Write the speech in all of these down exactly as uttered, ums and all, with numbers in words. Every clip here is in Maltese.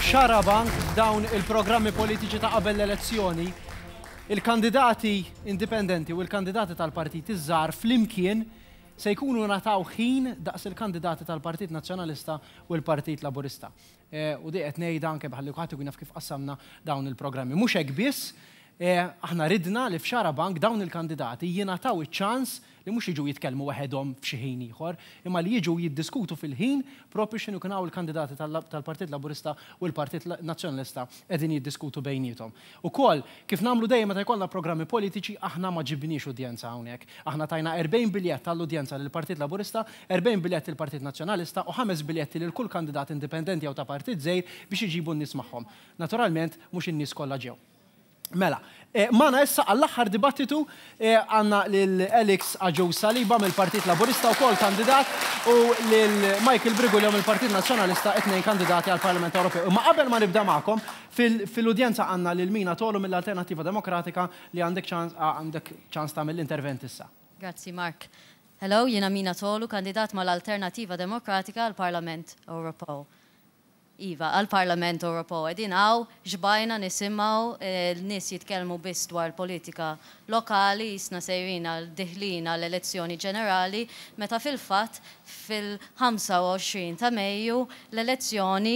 F'Xarabank, dawn il-programmi politiċi ta' qabel l-elezzjoni, il-kandidati indipendenti u l-kandidati tal-partit iż-żgħar flimkien se jkunu ngħataw ħin daqs il-kandidati tal-Partit Nazzjonalista u l-Partit Laburista. Eh, u di qed ngħidha anke ħalli kulħadd ikun jaf kif qassamna dawn il-programmi. Mhux hekk biss, eh, aħna ridna li f'Xarabank dawn il-kandidati jingħataw iċ-ċans li mhux jiġu jitkellmu waħedhom f'xi ħin ieħor, imma li jiġu jiddiskutu fil-ħin propju x'inhu kienu il-kandidati tal-Partit Laburista u l-Partit Nazzjonalista qegħdin jiddiskutu bejniethom. Ukoll, kif nagħmlu dejjem meta jkollna programmi politiċi, aħna ma ġibniex udjenza hawnhekk. Aħna tajna erbgħin biljett tal-udjenza lill-Partit Laburista, erbgħin biljett lill-Partit Nazzjonalista u ħames biljetti lil kull kandidat indipendenti jew ta' partit żgħir biex iġibu n-nies magħhom. Naturalment, mhux in-nies kollha ġew. Mela, eh, magħna issa għall-aħħar dibattitu eh, għandna lil Alex Agius Saliba mill-Partit Laburista u kol kandidat u lil Michael Briguglio mill-Partit Nazzjonalista, it-tnejn kandidati għall-Parlament Ewropew. Imma qabel ma nibda magħkom, fil-udjenza għandna lil Mina Tolu mill-Alternattiva Demokratika li għandek ċans għandek ċans tagħmel l-intervent issa. Grazzi, Mark. Hello, jiena Mina Tolu, kandidat mal-Alternativa Demokratika għall-Parlament Ewropew. Iva, għal-Parlament Ewropew. Qegħdin hawn, xbajna nisimgħu l-nies jitkellmu biss dwar politika lokali, jisna sejrin għal deħlin għal elezzjoni ġenerali, meta fil-fatt fil-ħamsa u għoxrin ta' Mejju l-elezzjoni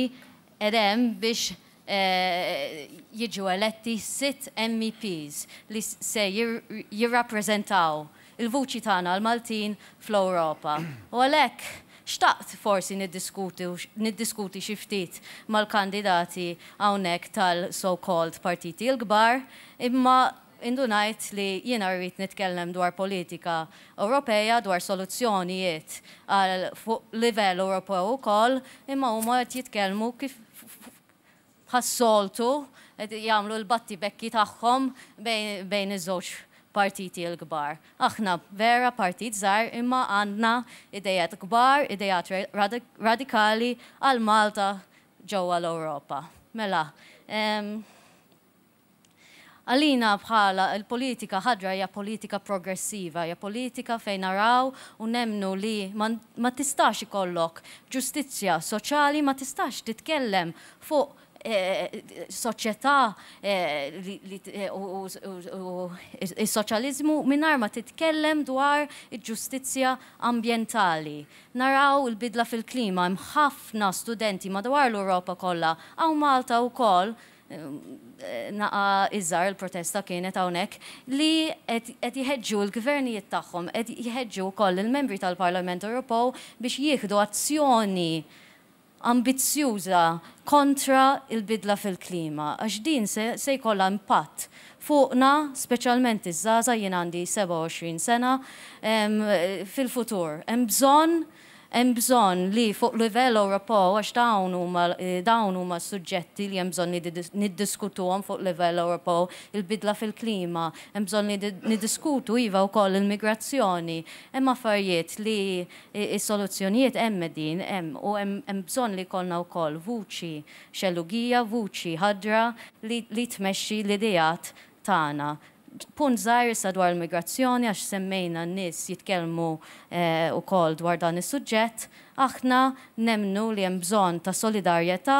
edem biex eh, jiġu eletti sitt M E Ps li se jirrappreżentaw il-vuċi tagħna l-Maltin fl-Ewropa. U għalhekk xtaqt forsi niddiskuti, niddiskuti xi ftit mal-kandidati hawnhekk tal-so-called partiti l-kbar, imma indunajt li jiena rrid nitkellem dwar politika Ewropea, dwar soluzzjonijiet għal fuq livell Ewropew ukoll, imma huma qed jitkellmu kif bħas-soltu qed jagħmlu l-battibekki tagħhom bejn, bejn iż-żewġ partiti l-kbar. Aħna vera partit żgħar imma għandna idejat kbar, idejat radik-, radikali għal Malta ġewwa l-Ewropa. Mela, em, għalina bħala il-politika ħadra hija politika progressiva, hija politika fejn naraw u nemnu li ma, ma tistax ikollok ġustizzja soċjali, ma tistax titkellem fuq, eh, soċjetà, eh, li, li, eh, u, u, u, u is-soċjaliżmu mingħajr ma titkellem dwar il-ġustizzja ambjentali. Naraw il-bidla fil-klima, hemm ħafna studenti madwar l-Ewropa kollha, hawn Malta wkoll, eh, naqa iżgħar il-protesta kienet hawnhekk, li qed, qed jħeġġu l-gvernijiet tagħhom, qed jħeġġu wkoll il-membri tal-Parlament Ewropew biex jieħdu azzjoni ambizzjuża kontra il-bidla fil-klima, għax din se, se jkollha impatt fuqna, speċjalment iż-żgħażagħ, jien għandi sebgħa u għoxrin sena, em, fil-futur. Hemm bżonn, hemm bżonn li fuq livell Ewropew, għax dawn huma, dawn huma suġġetti li hemm bżonn li niddiskutuhom fuq livell Ewropew, il-bidla fil-klima, hemm bżonn li niddiskutu iva wkoll il-migrazzjoni, hemm affarijiet li is-soluzzjonijiet hemm din, hemm, u hemm, hemm bżonn li jkollna wkoll vuċi xellugija, vuċi ħadra li, li tmexxi l-idejat tagħna. Punt żgħir issa dwar l-immigrazzjoni, għax semmejna n-nies jitkellmu, eh, ukoll dwar dan is-suġġett, aħna nemnu li hemm bżonn ta' solidarjetà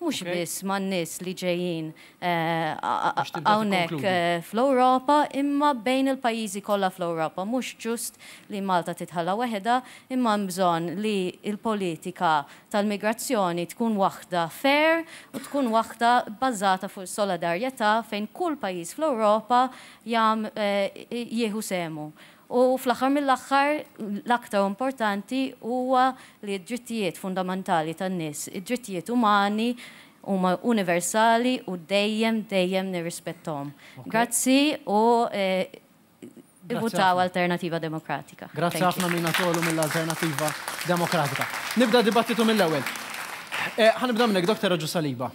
mhux Okay. biss man-nies li ġejjin, eh, a-, a-, Biex tibda hawnhekk, tikkonkludi. eh, fl-Ewropa, imma bejn il-pajjiżi kollha fl-Ewropa. Mhux ġust li Malta titħalla waħedha, imma hemm bżonn li l-politika tal-migrazzjoni tkun waħda fair u tkun waħda bbażata fuq solidarjetà fejn kull pajjiż fl-Ewropa jam, eh, jieħu semu. U fl-aħħar mill-aħħar, l-aktar importanti huwa li d-drittijiet fundamentali tan-nies, id-drittijiet umani huma universali u dejjem, dejjem nirrispettom. Okay. Grazzi u, eh, Grazzi ivvutaw ħafna. Alternativa Demokratika. Grazzi Thank you. ħafna Mina Tolu mill-Alternativa Demokratika. Nibda dibattitu mill-ewwel. Eh, ħa nibda minnek, Doktor Agius Saliba.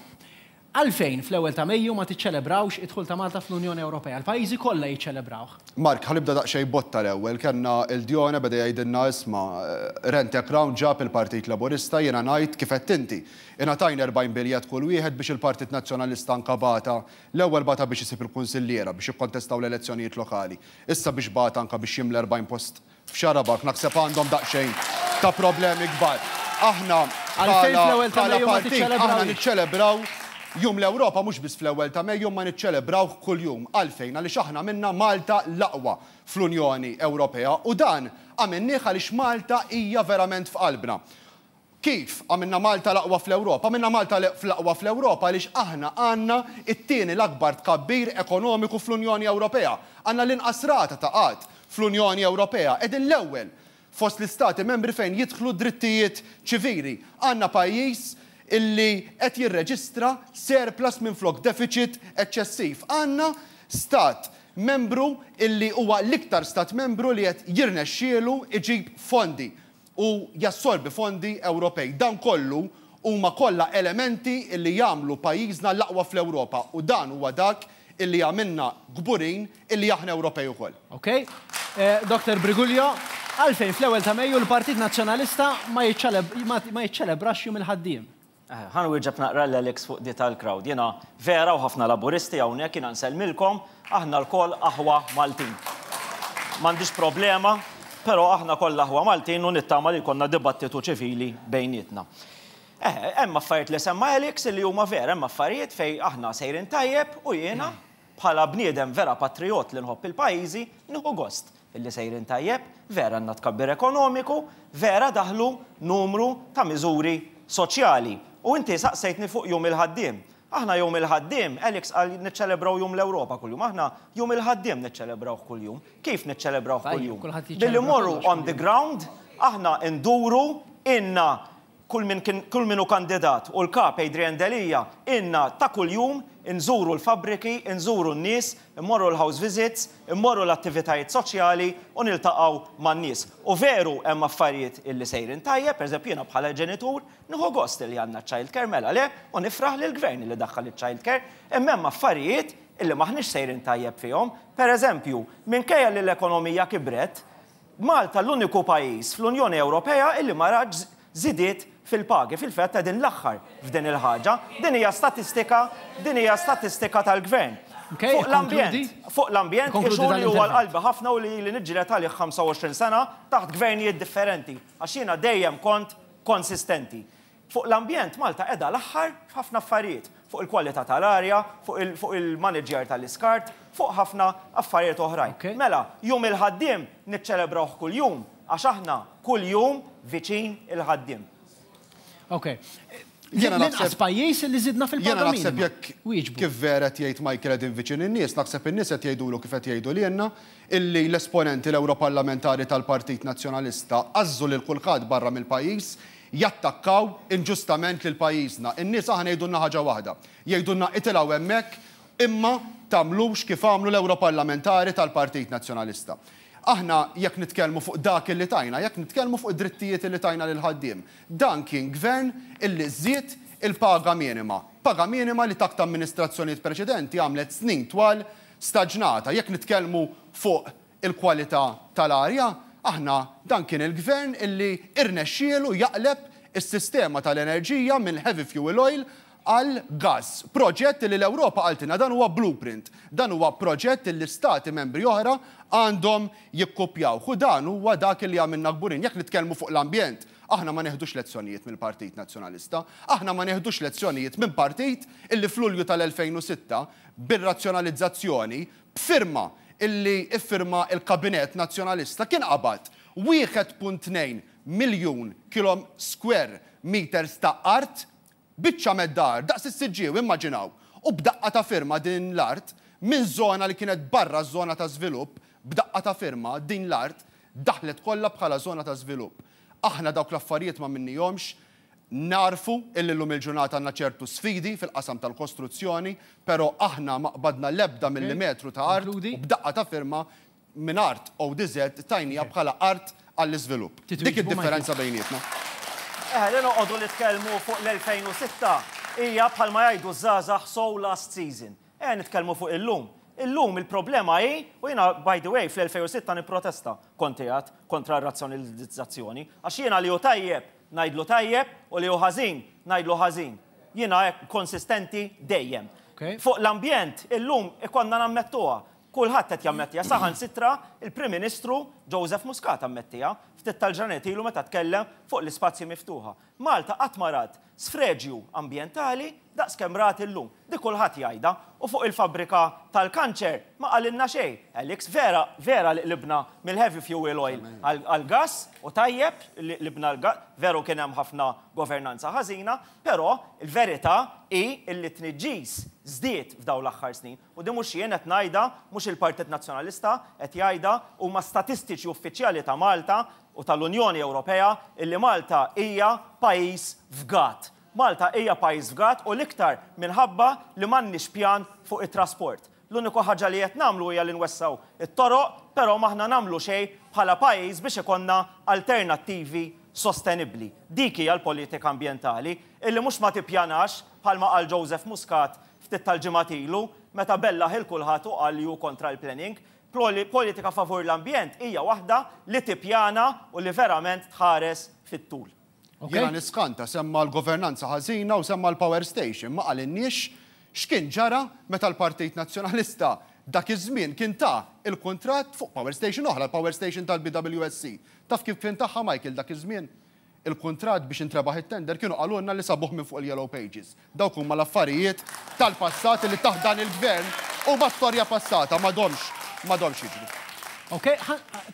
Għalfejn fl-ewwel ta' Mejju ma tiċċelebrawx id-dħul ta' Malta fl-Unjoni Ewropea? Il-pajjiżi kollha jiċċelebrawh. Mark, ħa nibda daqsxejn botta l-ewwel. Kellna il-Djona beda jgħidilna isma', eh, Rent a Crown ġab il-Partit Laburista, jiena ngħid kif qed inti. Ingħatajna erbgħin biljett kull wieħed biex il-Partit Nazzjonalista anka bata, l-ewwel bata biex isib il-kunsilliera biex jikkontestaw l-elezzjonijiet lokali. Issa biex bata anka biex jimla erbgħin post f'Xarabank, naħseb għandhom daqsxejn ta' problemi kbar. Aħna bħala partit aħna niċċelebraw Jum l-Ewropa mhux biss fl-ewwel ta' Mejju ma niċċelebraw kuljum. Għalfejn? Għaliex aħna minna Malta l-aqwa fl-Unjoni Ewropea u dan għamilnieh għaliex Malta hija verament f'qalbna. Kif għamilna Malta l-aqwa fl-Ewropa? Għamilna Malta l-aqwa fl-Ewropa għaliex aħna għandna it-tieni l-akbar tkabbir ekonomiku fl-Unjoni Ewropea. Għandna l-inqas rata ta' qgħad fl-Unjoni Ewropea. Qegħdin l-ewwel fost l-istati membri fejn jidħlu drittijiet ċivili. Għandna pajjiż illi qed jirreġistra surplus minflok deficit eċċessiv. Għandna stat membru illi huwa l-iktar stat membru li qed jirnexxielu iġib fondi u jassorbi fondi Ewropej. Dan kollu huma kollha elementi illi jagħmlu pajjiżna l-aqwa fl-Ewropa u dan huwa dak illi għamilna kburin illi aħna Ewropej ukoll. Ok. Doktor Briguglio, għalfejn fl-ewwel ta' Mejju l-Partit Nazzjonalista ma jiċċelebrax Jum il-Ħaddiem? Ħa nwieġeb naqra l-Alex fuq di tal-crowd. Jiena vera u ħafna laburisti hawnhekk jiena nsellmilkom, aħna lkoll aħwa Maltin. M'għandix problema, però aħna kollha aħwa Maltin u nittama li jkollna dibattitu ċivili bejnietna. Hemm affarijiet li semma Alex li huma vera, hemm affarijiet fejn aħna sejrin tajjeb u jiena bħala bniedem vera patriot li nħobb il-pajjiżi nieħu gost illi sejrin tajjeb, vera għandna tkabbir ekonomiku, vera daħlu numru ta' miżuri soċjali. U inti saqsejtni fuq Jum il-Ħaddiem. Aħna Jum il-Ħaddiem, Alex qal niċċelebraw Jum l-Ewropa kuljum. Aħna Jum il-Ħaddiem niċċelebraw kuljum. Kif niċċelebraw kuljum? Billi morru on the ground, aħna nduru inna kull min kull min hu kandidat u l-kap Adrian Delia inna ta' kuljum nżuru l-fabriki, nżuru n-nies, immorru l-house visits, immorru l-attivitajiet soċjali u niltaqgħu man-nies. U veru hemm affarijiet illi sejrin tajjeb, pereżempju jiena bħala ġenitur nieħu gost li għandna child care mela le u nifraħ lill-gvern li daħħal il-child care, imma hemm affarijiet illi maħniex sejrin tajjeb fihom. Pereżempju, minkejja li l-ekonomija kibret, Malta l-uniku pajjiż fl-Unjoni Ewropea illi ma rax żidiet fil-pagi, fil-fatt din l-aħħar f'din il-ħaġa. Din hija statistika, din hija statistika tal-gvern. Fuq l-ambjent, fuq l-ambjent, issue li huwa l-qalbi ħafna u li li niġġieled għalih ħamsa u għoxrin sena taħt gvernijiet differenti, għax jiena dejjem kont konsistenti. Fuq l-ambjent Malta qiegħda l-aħħar f'ħafna affarijiet, fuq il-kwalità tal-arja, fuq il-manager tal-iskart, fuq ħafna affarijiet oħrajn. Mela, Jum il-Ħaddiem niċċelebrawh kuljum, għax aħna kuljum viċin il-ħaddiem. Ok. Jiena naħseb pajjiż li żidna fil-paga. Jiena naħseb jekk kif vera qed jgħid Michael qegħdin viċin in-nies, naħseb in-nies qed jgħidulu kif qed jgħidu lilna illi l-esponenti l-Ewroparlamentari tal-Partit Nazzjonalista għażżu lil kulħadd barra mill-pajjiż jattakkaw inġustament lil pajjiżna. In-nies aħna jgħidulna ħaġa waħda. Jgħidulna itilgħu hemmhekk imma tagħmlux kif għamlu l-Ewroparlamentari tal-Partit Nazzjonalista. Aħna jekk nitkellmu fuq dak illi tajna, jekk nitkellmu fuq id-drittijiet illi tajna lil ħaddiem, dan kien gvern illi żied il-paga minima. Paga minima li taħt amministrazzjonijiet preċedenti għamlet snin twal staġnata. Jekk nitkellmu fuq il-kwalità tal-arja, aħna dan kien il-gvern illi irnexxielu jaqleb is-sistema tal-enerġija minn heavy fuel oil għal gas. Proġett li l-Ewropa qaltilna dan huwa blueprint. Dan huwa proġett li stati membri oħra għandhom jikkopjaw. U dan huwa dak li għamilna kburin. Jekk nitkellmu fuq l-ambjent, aħna ma neħdux lezzjonijiet mill-Partit Nazzjonalista, aħna ma neħdux lezzjonijiet minn partit illi f'Lulju tal-elfejn u sitta bir-razzjonalizzazzjoni b'firma illi iffirma il-Kabinett Nazzjonalista kien qabad wieħed punt tnejn miljun kilom square meters ta' art biċċa mad-dar, daqs is-Siġġiew, immaġinaw, u b'daqqa ta' firma din l-art, minn zona li kienet barra żona ta' żvilupp, b'daqqa ta' firma din l-art daħlet kollha bħala żona ta' żvilupp. Aħna dawk l-affarijiet ma minnihomx, narfu illi llum il-ġurnata għandna ċertu sfidi fil-qasam tal-kostruzzjoni, però aħna ma qbadna l-ebda millimetru ta' art u b'daqqa ta' firma minn art O D Z tajnija bħala art għall-iżvilupp. Dik id-differenza bejnietna. Eh, li noqogħdu nitkellmu fuq l-elfejn u sitta hija bħalma jgħidu żgħażagħ so last season. Eh, nitkellmu fuq illum. Illum il-problema hi, u jiena by the way fl-elfejn u sitta nipprotesta konti għad kontra r-razzjonalizzazzjoni, għax jiena li hu tajjeb ngħidlu tajjeb u li hu ħażin ngħidlu ħażin. Jiena hekk konsistenti dejjem. Fuq l-ambjent illum ikonna nammettuha. Kulħadd qed jammettiha, saħansitra il-Prim Ministru Joseph Muscat ammettieha ftit tal-ġranet ilu meta tkellem fuq l-ispazji miftuħa. Malta qatt ma rat sfreġju ambjentali daqs kemm rat illum. Dik kulħadd jgħidha u fuq il-fabrika tal-kanċer ma qalilna xejn. Alex, vera, vera li qlibna mill-heavy fuel oil għal-gas u tajjeb li qlibna l-gas, veru kien hemm ħafna governanza ħażina, però il-verità hi li t-tniġġis żdied f'dawn l-aħħar snin. U di mhux jien qed ngħidha, mhux il-Partit Nazzjonalista qed jgħidha, huma statistiċi uffiċjali ta' Malta u tal-Unjoni Ewropea illi Malta hija pajjiż fgat. Malta hija pajjiż fgat u l-iktar minħabba li m'għandniex pjan fuq it-trasport. L-uniku ħaġa li qed nagħmlu hija li nwessaw it-toroq, però m'aħna nagħmlu xejn bħala pajjiż biex ikollna alternattivi sostenibbli. Dik hija l-politika ambjentali illi mhux ma tippjanax bħalma qal Joseph Muscat ftit tal-ġimgħat ilu meta bellaħ il kulħadd u qal li hu kontra l-planning. Politika favur l-ambjent hija waħda li tippjana u li verament tħares fit-tul. Jiena niskanta semma l-governanza ħażina u semma l-power station, ma qalinniex x'kien ġara meta l-Partit Nazzjonalista dak iż-żmien kien ta' il-kuntratt fuq power station oħra, l-power station tal-B W S C. Taf kif kien tagħha Michael dak iż-żmien? Il-kuntratt biex intrebaħ it-tender kienu qalulna li sabuh minn fuq il-Yellow Pages. Dawk huma l-affarijiet tal-passat li taħt dan il-gvern u ma storja passata m'għadhomx m'għadhomx jiġru. Ok,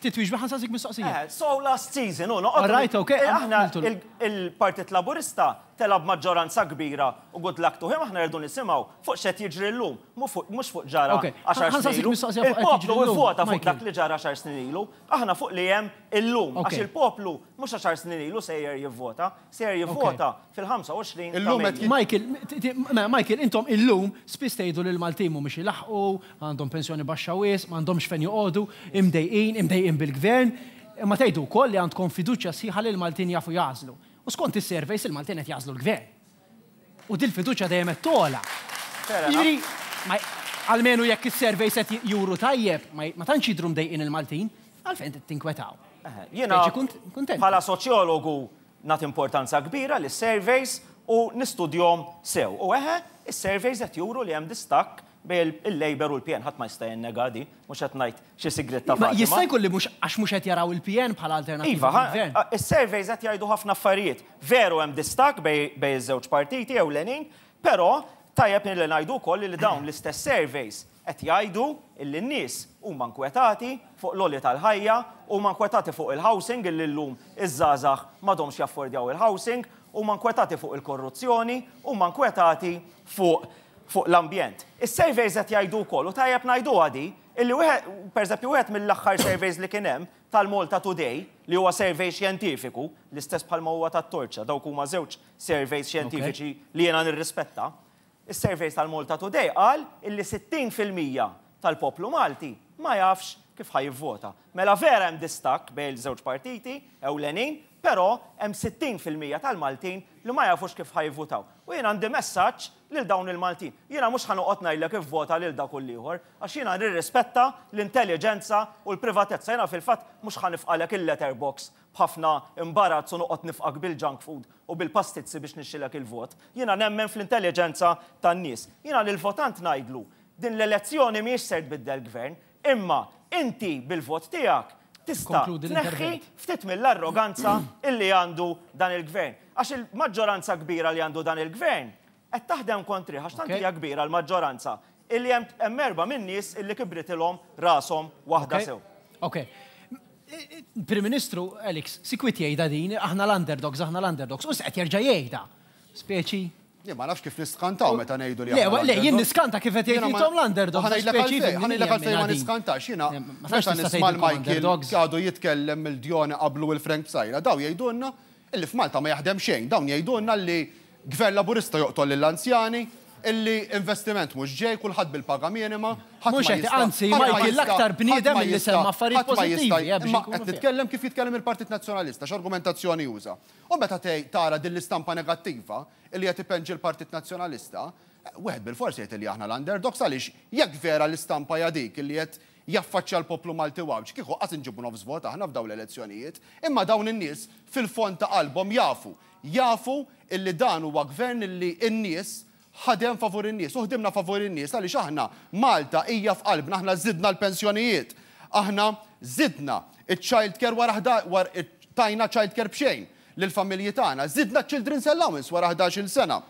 titwieġba ħa nsaqsik mistoqsija. Eh, so last season, u All right, ok, Eh, aħna għamiltu l- il-, il-Partit Laburista telab maġġoranza kbira u good luck to him, aħna rridu nisimgħu fuq x'qed jiġri llum, mhux fuq ġara Ok, għaxar ħa nsaqsik snin ilu. mistoqsija fuq qed Il-poplu jiġri llum, ivvota fuq Michael. dak li ġara għaxar snin ilu, aħna fuq li hemm illum, Ok. għax il-poplu mhux għaxar snin ilu sejjer jivvota, sejjer jivvota fil-ħamsa u għoxrin ta' Illum qed Mejju. Michael, t-, t-, ma-, Michael, intom illum spiss tgħidu li l-Maltin mhumiex ilaħqu, għandhom pensjoni baxxa wisq, m'għandhomx fejn joqogħdu, imdejqin, imdejqin bil-gvern, imma tgħidu wkoll li għandkom fiduċja sħiħa li l-Maltin jafu jażlu. U skont is-surveys il-Maltin qed jażlu l-gvern. U dil-fiduċja dejjem qed togħla. Fair enough. Jiġifieri, ma-, almenu jekk is-surveys qed juru tajjeb, ma-, ma tantx jidhru mdejqin il-Maltin, għalfejn tinkwetaw. Eh, jiena Speċi kunt-, kuntent. bħala soċjologu nagħti importanza kbira lis surveys u nistudjom sew. U eħe, is-surveys qed juru li hemm distakk bejn il-Labour u l-P N, ħadd ma jista' jinnega di, mhux qed ngħid xi sigrit ta' Ma Fatima. jista' jkun li mhux għax mhux qed jaraw il-P N bħala alternattiva Iva, fil-gvern. ha-, is-surveys qed jgħidu ħafna affarijiet. Veru hemm distakk bej, bej iż-żewġ partiti ewlenin, però tajjeb li ngħidu wkoll li dawn l-istess surveys qed jgħidu illi n-nies huma nkwetati fuq l-għoli tal-ħajja, huma nkwetati fuq il-housing illi llum iż-żgħażagħ m'għadhomx jaffordjaw il-housing, huma nkwetati fuq il-korruzzjoni, huma nkwetati fuq, fuq l-ambjent. Is-surveys qed jgħidu wkoll u tajjeb ngħiduha di, illi wieħed, pereżempju, wieħed mill-aħħar surveys li kien hemm tal-Malta Today, li huwa survey xjentifiku, l-istess bħalma huwa tat-Torċa, dawk huma żewġ surveys xjentifiċi li jiena nirrispetta. Is-surveys tal-Malta Today qal illi sittin fil-mija tal-poplu Malti ma jafx kif ħa jivvota. Mela vera hemm distakk bejn iż-żewġ partiti ewlenin, però hemm sittin fil-mija tal-Maltin li ma jafux kif ħa jivvotaw. U jiena għandi messaġġ lil dawn il-Maltin. Jiena mhux ħa noqgħod ngħidlek ivvota lil dak u l-ieħor, għax jiena nirrispetta l-intelligenza u l-privatezza. Jiena fil-fatt mhux ħa nifqalek il-letterbox b'ħafna imbarazz u noqgħod nifqak bil-junk food u bil-pastizzi biex nixxilek il-vot. Jiena nemmen fl-intelligenza tan-nies. Jiena lill-votant ngħidlu din l-elezzjoni mhijiex ser tbiddel gvern, imma inti bil-vot tiegħek tista' Konkludi tneħħi l-intervent. ftit mill-arroganza illi għandu dan il-gvern. Għax il-maġġoranza kbira li għandu dan il-gvern qed taħdem kontri, għax tant Ok. hija kbira l-maġġoranza illi hemm, hemm erba' minn nies illi kibritilhom rashom waħda Ok. sew. Ok. Prim Ministru, Alex, sikwit jgħidha din, aħna l-underdogs, aħna l-underdogs, u qed jerġa' jgħidha. Speċi. Jien ma nafx kif niskantaw meta ngħidu li Le, aħna le, jien l-underdogs. niskanta kif qed jgħid Jiena ma- intom l-underdogs, Ħa ngħidlek speċi għalfejn, ħa ngħidlek għalfejn ma jien niskantax, jiena Le, ma meta tantx tista' nisma' tgħidilkom l-Michael underdogs. għadu jitkellem il-Djoni qablu il-Frank Psaila, daw jgħidulna illi f'Malta ma jaħdem xejn, dawn jgħidulna li gvern Laburista joqtol lill-anzjani, illi investiment mhux ġej, kulħadd bil-paga minima, ħadd Mhux ma qed, jista' anzi, ħadd ma Michael, jista' l-aktar bniedem ħadd ma illi jista' semma affarijiet ħadd ma jista' pożittivi, eh, biex imma inkunu qed fair. nitkellem kif jitkellem il-Partit Nazzjonalista, x'argumentazzjoni juża. U meta tgħid tara din l-istampa negattiva illi qed ipenġi l-Partit Nazzjonalista, wieħed bil-forsi jgħid li aħna l-underdogs għaliex jekk vera l-istampa hija dik illi qed jaffaċċja l-poplu Malti u Għawdxi, kieku qas inġibu nofs vot aħna f'dawn l-elezzjonijiet, imma dawn in-nies fil-fond ta' qalbhom jafu, jafu illi dan huwa gvern illi n-nies ħadem favur in-nies, u ħdimna favur in-nies għaliex aħna Malta hija f'qalbna, aħna żidna l-pensjonijiet, aħna Żidna iċ-child care wara tajna child care b'xejn lill-familji tagħna. Żidna children's allowance wara ħdax-il sena.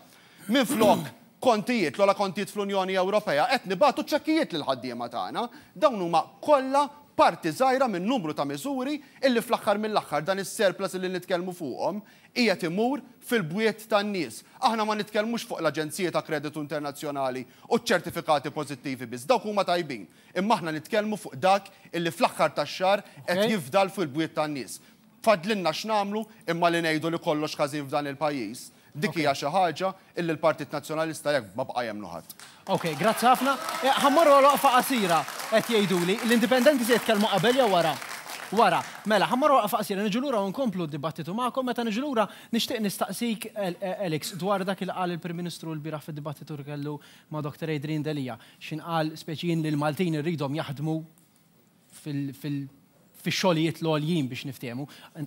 Minflok kontijiet, l-ogħla kontijiet fl-Unjoni Ewropea, qed nibagħtu ċekkijiet lill-ħaddiema tagħna. Dawn huma kollha parti żgħira minn numru ta' miżuri illi fl-aħħar mill-aħħar dan is-surplus li nitkellmu fuqhom qiegħed imur fil-bwiet tan-nies. Aħna ma nitkellmux fuq l-Aġenziji ta' Kreditu Internazzjonali u ċ-ċertifikati pożittivi biss, dawk huma tajbin. Imma aħna nitkellmu fuq dak illi fl-aħħar tax-xahar qed jifdal fil-bwiet tan-nies. Fadlinna x'nagħmlu imma li ngħidu li kollox ħażin f'dan il-pajjiż. Dik hija xi ħaġa illi l-Partit Nazzjonalista jekk ma baqa' jemmnu ħadd. Ok, grazzi ħafna. Ħa mmorru għal waqfa qasira qed jgħiduli l-indipendenti se jitkellmu qabel jew wara? Wara. Mela, ħa mmorru waqfa qasira, niġu lura u nkomplu d-dibattitu magħkom. Meta niġu lura nixtieq nistaqsik Alex dwar dak il qal il-Prim Ministru l-bieraħ fid-dibattitu li kellu ma' Doktor Adrian Delia. X'in qal speċi jien li l-Maltin irridhom jaħdmu fil fix-xogħlijiet l-għoljin biex niftehmu.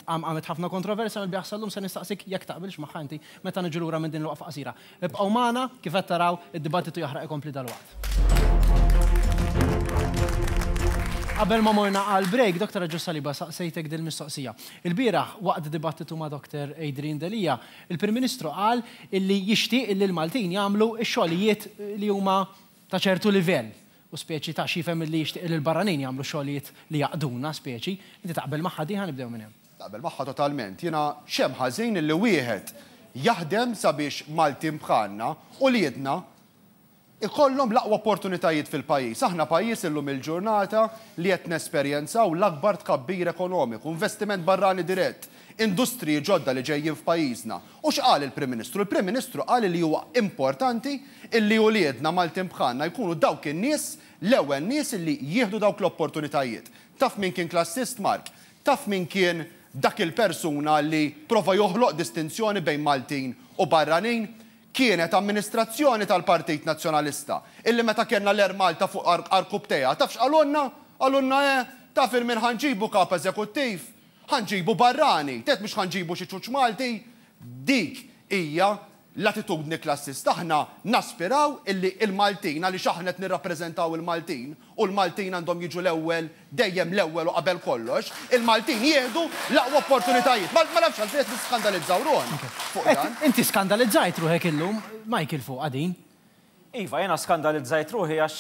Għamet ħafna kontroversja mill-bieraħ sal-lum, se nistaqsik jekk taqbilx magħha inti meta niġu lura minn din l-waqfa qasira. Ibqgħu magħna, kif qed taraw id-dibattitu jaħraq ikompli dalwaqt. Qabel ma morna għal break, Doktor Agius Saliba, saqsejtek dil-mistoqsija. Il-bieraħ waqt dibattitu ma' Doktor Adrian Delia, il-Prim Ministru qal illi jixtieq illi l-Maltin jagħmlu x-xogħlijiet li huma ta' ċertu livell. U speċi ta' xifem li jixtieq li l-barranin jagħmlu xogħlijiet li jaqduna speċi, inti taqbel magħha di, ħa nibdew minn hemm. Taqbel magħha totalment. Jiena xemm ħażin illi wieħed jaħdem sabiex Maltin bħalna u li jedna ikollhom l-aqwa opportunitajiet fil-pajjiż. Aħna pajjiż illum il-ġurnata li qed nesperjenzaw l-akbar tkabbir ekonomiku, investiment barrani dirett, industriji ġodda li ġejjin f'pajjiżna. U x'qal il-Prim Ministru? Il-Prim Ministru qal li huwa importanti illi uliedna Maltin bħalna jkunu dawk in-nies, l-ewwel nies illi jieħdu dawk l-opportunitajiet. Taf min kien klassist, Mark? Taf min kien dak il-persuna li prova joħloq distinzjoni bejn Maltin u barranin? Kienet amministrazzjoni tal-Partit Nazzjonalista illi meta kellna l-Air Malta fuq arkubteja, taf x'qalulna? Qalulna eh, taf il min ħa nġibu kap eżekuttiv, ħa nġibu barrani, tet mhux ħa nġibu xi ċuċ Malti. Dik hija l-attitudni klassista. Aħna naspiraw illi il-Maltin, għaliex aħna qed nirrappreżentaw il-Maltin, u l-Maltin għandhom jiġu l-ewwel, dejjem l-ewwel u qabel kollox, il-Maltin jieħdu l-aqwa opportunitajiet. Ma nafx għalfejn qed niskandalizzaw ruħna fuq dan. Inti skandalizzajt ruħek illum, Michael, fuq għadin. Iva, jiena skandalizzajt ruħi għax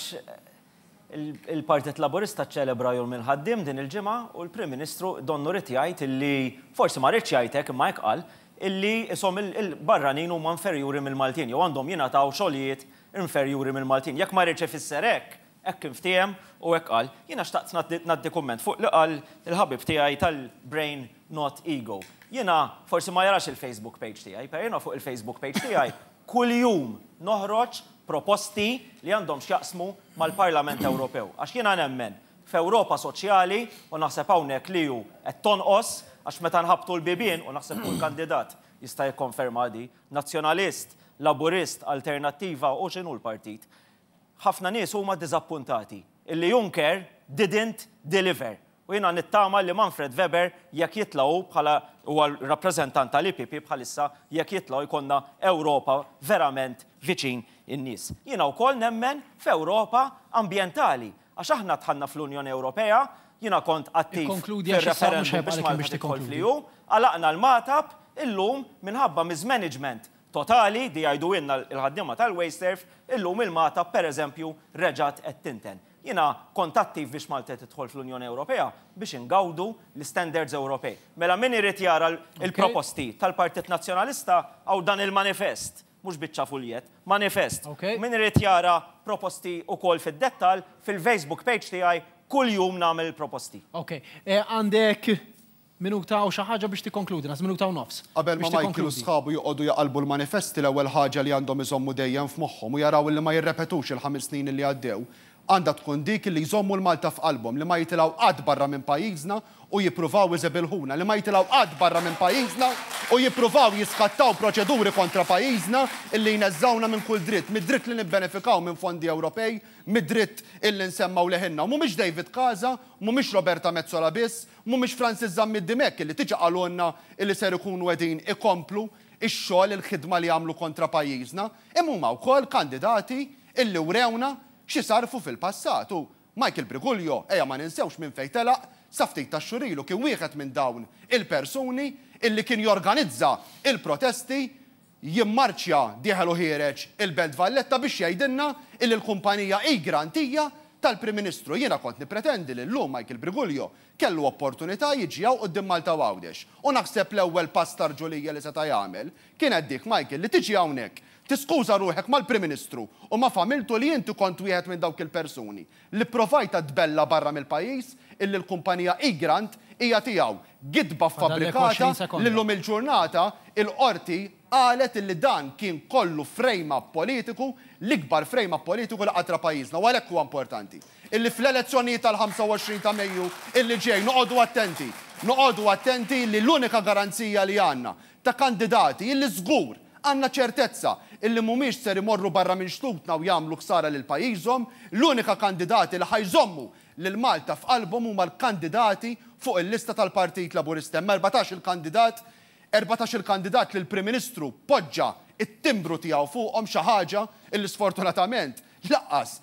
il-Partit Laburista ċelebra jum il-ħaddiem din il-ġimgħa u l-Prim Ministru donnu rid jgħid illi forsi ma rridx jgħid hekk imma hekk qal illi isom il-barranin huma inferjuri mill-Maltin jew għandhom jingħataw xogħlijiet inferjuri mill-Maltin. Jekk ma rridx ifisser hekk, hekk inftiehem u hekk qal. Jiena xtaqt ngħaddi kumment fuq li qal il-ħabib tiegħi tal-brain not ego. Jiena forsi ma jarax il-Facebook page tiegħi, però jiena fuq il-Facebook page tiegħi kuljum noħroġ proposti li għandhom x'jaqsmu mal-Parlament Ewropew. Għax jiena nemmen f'Ewropa soċjali u naħseb hawnhekk li hu qed tonqos għax meta nħabtu l-bibien u naħseb kull kandidat jista' jikkonferma di, nazzjonalist, laburist, alternattiva u x'inhu l-partit. Ħafna nies huma diżappuntati illi Juncker didn't deliver. U jiena nittama li Manfred Weber jekk jitlgħu bħala huwa rappreżentant tal-I P P bħalissa jekk jitlgħu jkollna Ewropa verament viċin in-nies. Jiena wkoll nemmen f'Ewropa ambjentali għax aħna dħalna fl-Unjoni Ewropea, jiena kont attiv Ikkonkludi għax issa mhux fir-referendum ħajbqa' biex lek Malta biex tidħol tikkonkludi. fl-E U, għalaqna l-Magħtab illum minħabba mismanagement totali di jgħidu ilna l-ħaddiema tal-WasteServ, illum il-Magħtab pereżempju reġgħet qed tinten. Jiena kont attiv biex Malta tidħol fl-Unjoni Ewropea biex ingawdu l-standards Ewropej. Mela min irid jara l- Ok. il-proposti tal-Partit Nazzjonalista għaw dan il-manifest, mhux biċċa fuljet, manifest. Ok. Min irid jara proposti wkoll fid-dettal fil-Facebook page tiegħi kuljum nagħmel proposti. Ok, eh, għandek minuta u xi ħaġa biex tikkonkludi, nas minuta u nofs. Qabel ma Biex Michael u tikkonkludi. sħabu joqogħdu jaqalbu l-manifesti l-ewwel ħaġa li għandhom iżommu dejjem f'moħħhom u jaraw li ma jirrepetux il-ħames snin li għaddew, għandha tkun dik li jżommu l-Malta f'qalbhom, li ma jitilgħu qatt barra minn pajjiżna u jippruvaw iżebilħuna, li ma jitilgħu qatt barra minn pajjiżna u jippruvaw jiskattaw proċeduri kontra pajjiżna illi jneżżawna minn kull dritt, mid-dritt li nibbenefikaw minn fondi Ewropej, mid-dritt illi nsemmaw leħinna. Mhumiex David Casa, mhumiex Roberta Metsola biss, mhumiex Francis Zammit Dimech illi tiġi qalulna illi ser ikunu qegħdin ikomplu ix-xogħol il-ħidma li għamlu kontra pajjiżna, imma huma wkoll kandidati illi wrewna xi sarfu fil-passat. U Michael Briguglio, ejja ma ninsewx minn fejn telaq, Sa ftit ta' xhur ilu kien wieħed minn dawn il-persuni illi kien jorganizza il-protesti, jimmarċja dieħel u ħiereġ il-Belt Valletta biex jgħidilna illi l-kumpanija Egrant hija tal-Prim Ministru. Jiena kont nipretendi li llum Michael Briguglio kellu opportunità jiġi hawn quddiem Malta u Għawdex. U naħseb l-ewwel pass tarġulija li seta' jagħmel kienet dik, Michael, li tiġi hawnhekk, tiskuża ruħek mal-Prim Ministru u ma' familtu li inti kont wieħed minn dawk il-persuni li provajta tbella barra mill-pajjiż illi l-kumpanija Egrant hija tiegħu. Gidba fabbrikata li llum il-ġurnata il-qorti qalet illi dan kien kollu frame-up politiku, l-ikbar frame-up politiku li qatt ra pajjiżna. U għalhekk huwa importanti illi fl-elezzjonijiet tal-ħamsa u għoxrin ta' Mejju illi ġej noqogħdu attenti, noqogħdu attenti li l-unika garanzija li għandna ta' kandidati illi żgur għandna ċertezza illi mhumiex ser imorru barra minn xtutna u jagħmlu ħsara lil pajjiżhom, l-unika kandidati li ħa jżommu lil Malta f'qalbhom huma l-kandidati fuq il-lista tal-Partit Laburista. Hemm erbatax il-kandidat, erbatax il-kandidat li l-Prim Ministru poġġa it-timbru tiegħu fuqhom, xi ħaġa illi sfortunatament laqqas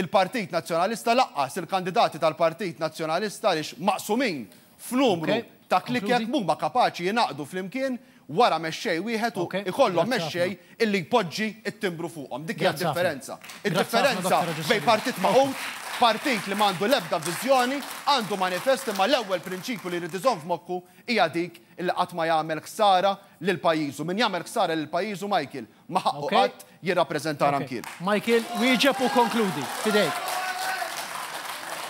il-Partit Nazzjonalista, laqqas il-kandidati tal-Partit Nazzjonalista għaliex maqsumin f'numru ta' klikek mhuma kapaċi jingħaqdu flimkien wara mexxej wieħed u ikollhom mexxej illi jpoġġi it-timbru fuqhom. Dik hija d-differenza. Id-differenza bejn partit magħqud, partit li m'għandu l-ebda viżjoni, għandu manifest, imma l-ewwel prinċipju li jrid iżomm f'moħħu hija dik illi qatt ma jagħmel ħsara lil pajjiżu. Min jagħmel ħsara lil pajjiżu, Michael, ma ħaqqu qatt jirrappreżentana mkien. Michael, wieġeb u konkludi. Fidejk.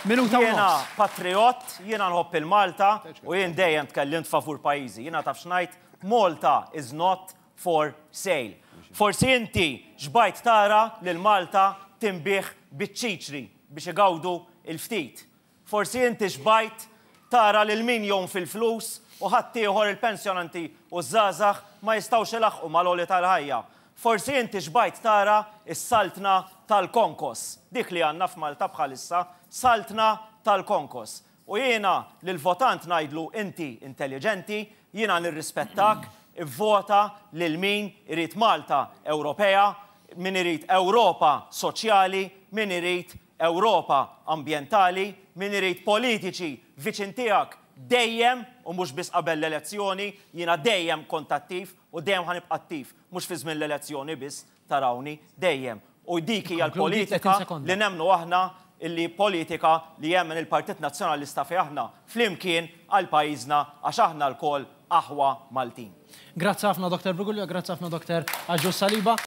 Minuta u Jiena nofs. patriot, jiena nħobb il-Malta u jien dejjem tkellimt favur pajjiżi. Jiena taf x'ngħid, Malta is not for sale. Forsi inti xbajt tara lil Malta tinbiegħ biċ-ċiċri biex igawdu il-ftit. Forsi inti xbajt tara lil min jgħum fil-flus u ħaddieħor il-pensjonanti u żgħażagħ ma jistgħux ilaħqu mal-għoli tal-ħajja. Forsi inti xbajt tara is-saltna tal-konkos. Dik li għandna f'Malta bħalissa, saltna tal-konkos. U jiena lil-votant ngħidlu inti intelligenti, jiena nirrispettak, ivvota lil min irid Malta Ewropea, min irid Ewropa soċjali, min irid Ewropa ambjentali, min irid politiċi viċin tiegħek dejjem u mhux biss qabel l-elezzjoni, jiena dejjem kont attiv u dejjem ħa nibqa' attiv, mhux fi żmien l-elezzjoni biss tarawni dejjem. U dik hija Konkludi l-politika tletin sekonda. li nemmnu aħna, illi politika li jemmen il-Partit Nazzjonalista fi aħna flimkien għal pajjiżna għax aħna lkoll aħwa Maltin. Grazzi ħafna Doktor Briguglio, grazzi ħafna Doktor Agius Saliba.